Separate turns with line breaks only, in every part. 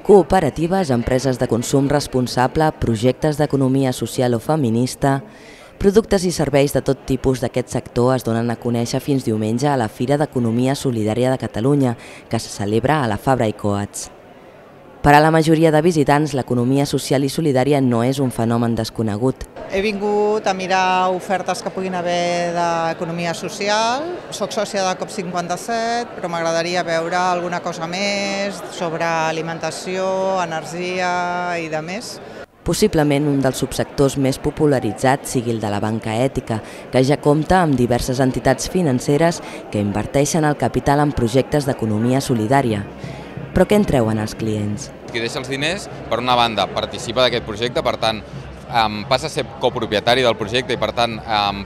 Cooperatives, empreses de consum responsable, projectes d'economia social o feminista, productes i serveis de tot tipus d'aquest sector es donen a conèixer fins diumenge a la Fira d'Economia Solidària de Catalunya, que se celebra a la Fabra i Coats. Per a la majoria de visitants, l'economia social i solidària no és un fenomen desconegut.
He vingut a mirar ofertes que puguin haver d'economia social. Soc sòcia de COP57, però m'agradaria veure alguna cosa més sobre alimentació, energia i de més.
Possiblement un dels subsectors més popularitzats sigui el de la banca ètica, que ja compta amb diverses entitats financeres que inverteixen el capital en projectes d'economia solidària. Però què en treuen els clients?
Qui deixa els diners, per una banda, participa d'aquest projecte, per tant, passa a ser copropietari del projecte i, per tant,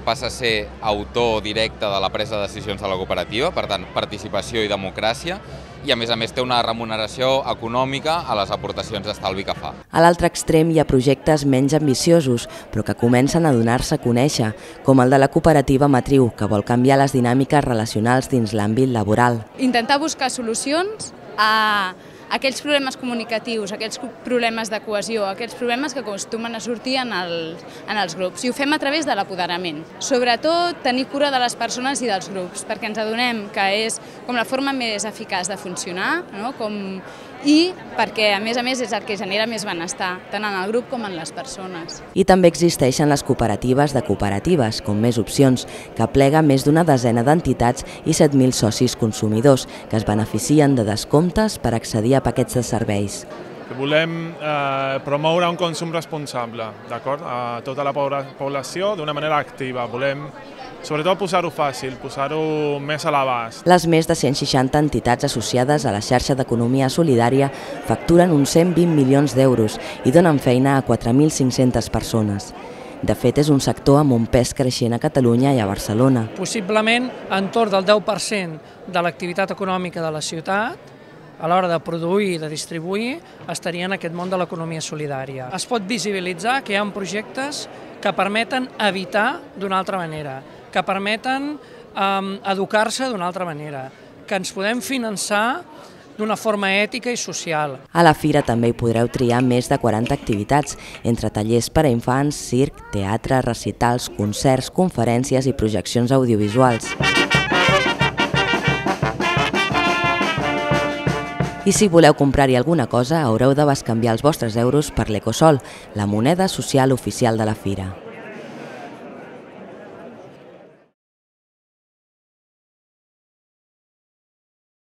passa a ser autor directe de la presa de decisions de la cooperativa, per tant, participació i democràcia, i a més té una remuneració econòmica a les aportacions d'estalvi que fa.
A l'altre extrem hi ha projectes menys ambiciosos, però que comencen a donar-se a conèixer, com el de la cooperativa Matriu, que vol canviar les dinàmiques relacionals dins l'àmbit laboral.
Intentar buscar solucions a aquells problemes comunicatius, aquells problemes de cohesió, aquells problemes que acostumen a sortir en els grups. I ho fem a través de l'apoderament. Sobretot, tenir cura de les persones i dels grups, perquè ens adonem que és com la forma més eficaç de funcionar, no? I perquè, a més, és el que genera més benestar, tant en el grup com en les persones.
I també existeixen les cooperatives de cooperatives, com Més Opcions, que plega més d'una desena d'entitats i 7.000 socis consumidors, que es beneficien de descomptes per accedir a paquets de serveis.
Volem promoure un consum responsable, d'acord? A tota la població d'una manera activa. Volem, sobretot, posar-ho fàcil, posar-ho més a l'abast.
Les més de 160 entitats associades a la xarxa d'economia solidària facturen uns 120 milions d'euros i donen feina a 4.500 persones. De fet, és un sector amb un pes creixent a Catalunya i a Barcelona.
Possiblement, entorn del 10% de l'activitat econòmica de la ciutat, a l'hora de produir i de distribuir, estaria en aquest món de l'economia solidària. Es pot visibilitzar que hi ha projectes que permeten evitar d'una altra manera, que permeten educar-se d'una altra manera, que ens podem finançar d'una forma ètica i social.
A la fira també hi podreu triar més de 40 activitats, entre tallers per a infants, circ, teatre, recitals, concerts, conferències i projeccions audiovisuals. I si voleu comprar-hi alguna cosa, haureu de bescanviar els vostres euros per l'Ecosol, la moneda social oficial de la fira.